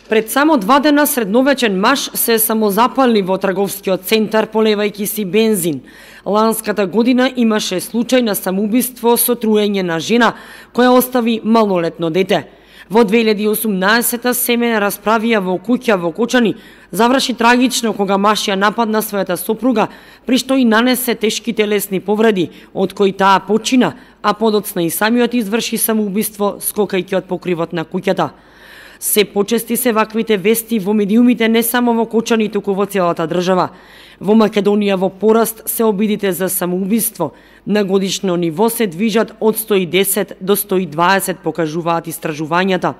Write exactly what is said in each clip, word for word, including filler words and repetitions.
Пред само два дена средновечен маж се самозапали во трговскиот центар поливајќи си бензин. Ланската година имаше случај на самоубиство со труење на жена која остави малолетно дете. Во две илјади и осумнаесета семеја расправија во куќа во Кочани заврши трагично кога маж ја нападна својата сопруга, при што и нанесе тешки телесни повреди, од кои таа почина, а подоцна и самиот изврши самоубиство скокајќи од покривот на куќата. Се почести се ваквите вести во медиумите не само во Кочани, туку во целата држава. Во Македонија во пораст се обидите за самоубиство. На годишно ниво се движат од сто и десет до сто и дваесет, покажуваат истражувањата.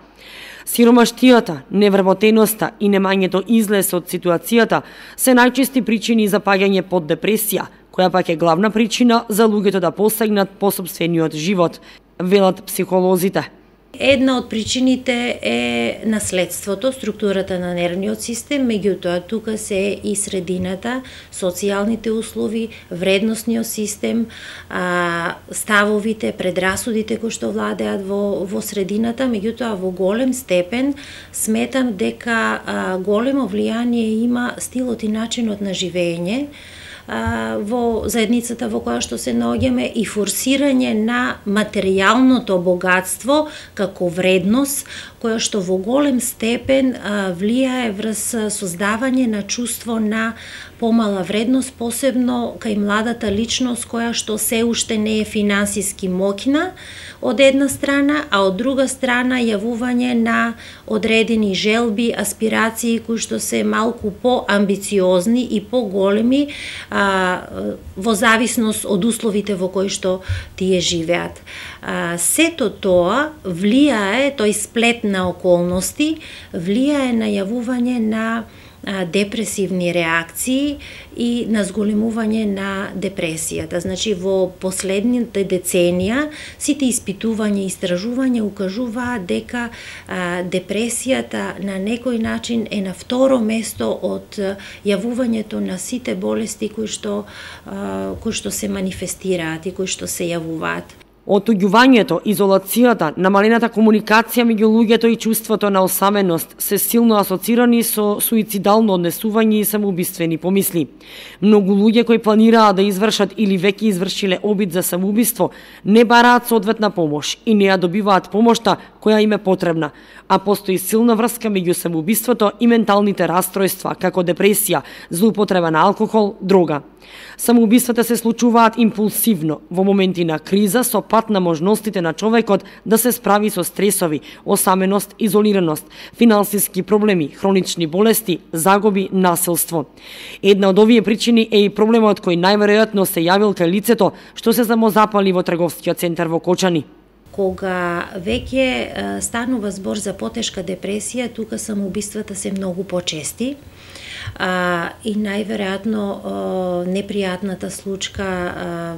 Сиромаштијата, невработеноста и немањето излез од ситуацијата се најчести причини за паѓање под депресија, која пак е главна причина за луѓето да посегнат по сопствениот живот, велат психолозите. Една од причините е наследството, структурата на нервниот систем, меѓутоа тука се и средината, социјалните услови, вредносниот систем, ставовите, предрасудите кои што владеат во, во средината, меѓутоа во голем степен сметам дека големо влијание има стилот и начинот на живење во заедницата во која што се наоѓаме и форсирање на материјалното богатство како вредност, која што во голем степен влијае врз создавање на чувство на помала вредност, посебно кај младата личност која што се уште не е финансиски моќна од една страна, а од друга страна јавување на одредени желби, аспирации кои што се малку поамбициозни и поголеми а, во зависност од условите во кои што тие живеат. А, сето тоа влијае, тој сплет на околности, влијае на јавување на депресивни реакции и на зголемување на депресијата. Значи, во последните деценија, сите испитувања и истражувања укажуваат дека а, депресијата на некој начин е на второ место од јавувањето на сите болести кои што, а, кои што се манифестираат и кои што се јавуваат. Отуѓувањето, изолацијата, намалената комуникација меѓу луѓето и чувството на осаменост се силно асоцирани со суицидално однесување и самоубиствени помисли. Многу луѓе кои планираат да извршат или веќе извршиле обид за самоубиство не бараат соодветна помош и не ја добиваат помошта која им е потребна, а постои силна врска меѓу самоубиството и менталните растројства, како депресија, злоупотреба на алкохол, дрога. Самоубиствата се случуваат импулсивно, во моменти на криза, со пат на можностите на човекот да се справи со стресови, осаменост, изолираност, финансиски проблеми, хронични болести, загуби, насилство. Една од овие причини е и проблемот кој најверојатно се јавил кај лицето што се самозапали во трговскиот центар во Кочани. Кога веќе станува збор за потешка депресија, тука самоубиствата се многу почести. А, и најверојатно непријатната случка а,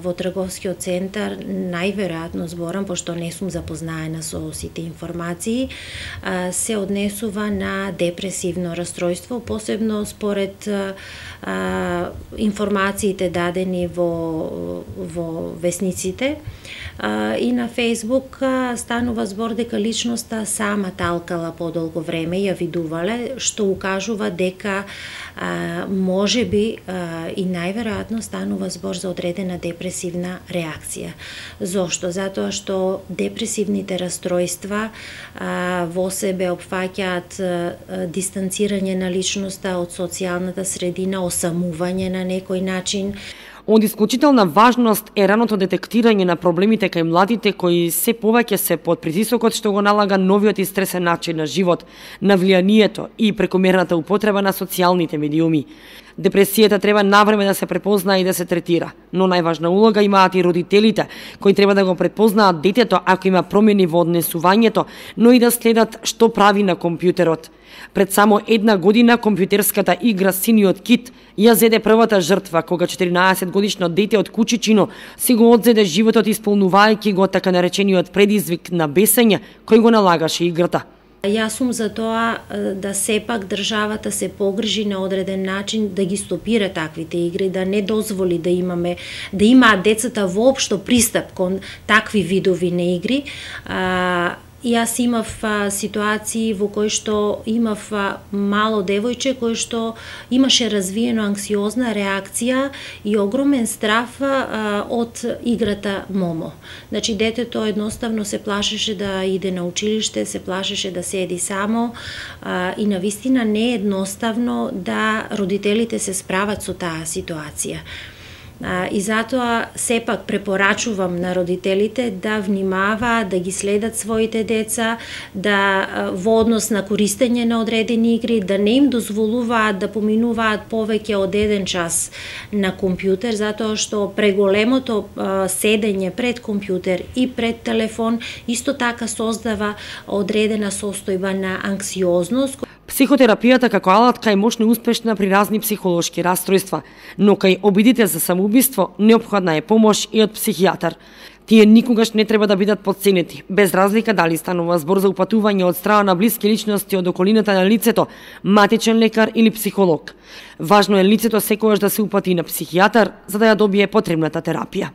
во трговскиот центар, најверојатно зборам, пошто не сум запознаена со сите информации, а, се однесува на депресивно расстройство, посебно според а, информациите дадени во, во весниците. Uh, и на Фејсбук uh, станува збор дека личноста сама талкала подолго време, ја видувале, што укажува дека uh, може би uh, и најверојатно станува збор за одредена депресивна реакција. Зошто? Затоа што депресивните расстройства uh, во себе опфаќаат uh, дистанцирање на личноста од социјалната средина, осамување на некој начин. Од исклучителна важност е раното детектирање на проблемите кај младите кои се повеќе се под притисокот што го налага новиот и стресен начин на живот, на влијанието и прекомерната употреба на социјалните медиуми. Депресијата треба навреме да се препознае и да се третира, но најважна улога имаат и родителите, кои треба да го препознаат детето ако има промени во однесувањето, но и да следат што прави на компјутерот. Пред само една година компјутерската игра Синиот кит ја зеде првата жртва, кога четиринаесет годишно дете од Кучичино си го одзеде животот исполнувајќи го така наречениот предизвик на бесење кој го налагаше играта. Јас сум за тоа да сепак државата се погрижи на одреден начин да ги стопира таквите игри, да не дозволи да имаме да имаат децата воопшто пристап кон такви видови на игри. А, Јас имав а, ситуации во кои што имав а, мало девојче кој што имаше развиено анксиозна реакција и огромен страф а, од играта Момо. Значи детето едноставно се плашеше да иде на училиште, се плашеше да седи само а, и навистина не е едноставно да родителите се справат со таа ситуација. И затоа сепак препорачувам на родителите да внимаваат, да ги следат своите деца, да во однос на користење на одредени игри, да не им дозволуваат да поминуваат повеќе од еден час на компјутер, затоа што преголемото седење пред компјутер и пред телефон исто така создава одредена состојба на анксиозност. Психотерапијата како алатка е мощно успешна при разни психолошки расстройства, но кај обидите за самоубиство неопходна е помош и од психијатар. Тие никогаш не треба да бидат потценети, без разлика дали станува збор за упатување од страна на блиски личности од околината на лицето, матичен лекар или психолог. Важно е лицето секогаш да се упати на психијатар за да ја добие потребната терапија.